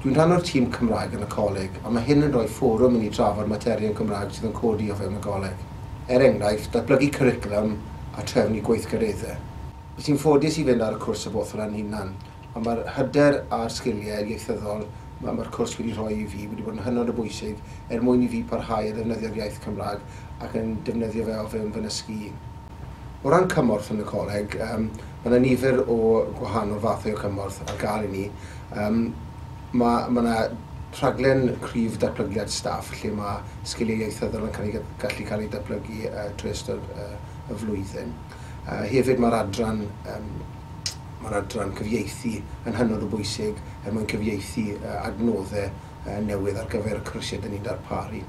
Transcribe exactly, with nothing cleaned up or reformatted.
Dwi'n rhan o'r tîm Cymraeg yn y coleg, a mae hyn yn rhoi fforwm i ni drafod materion Cymraeg sydd yn codi o fewn y goleg. Er enghraifft, datblygu cwricwlwm a trefnu gweithgareddau. Nes i'n ffodus i fynd ar y cwrs y both o'n hunan, ond mae'r hyder a'r sgiliau ieithyddol mae'r ma cwrs wedi rhoi i fi wedi bod yn hynod o bwysig er mwyn i fi parhau a ddefnyddio'r iaith Cymraeg ac yn defnyddio fe o fewn fy nysgu i. O ran cymorth yn y coleg, um, mae yna nifer o gwahanol fathau o cymorth ar gael i ni. Um, mae ma yna rhaglen cryf datblygiad staff lle mae sgiliau ieithyddol yn cael ei, gallu cael ei datblygu uh, trwy ystod uh, y flwyddyn. Uh, hefyd mae'r adran, um, mae'r adran cyfieithu yn hynod o bwysig er mwyn cyfieithu uh, adnoddau uh, newydd ar gyfer y cwrsiau dyn ni'n darparu.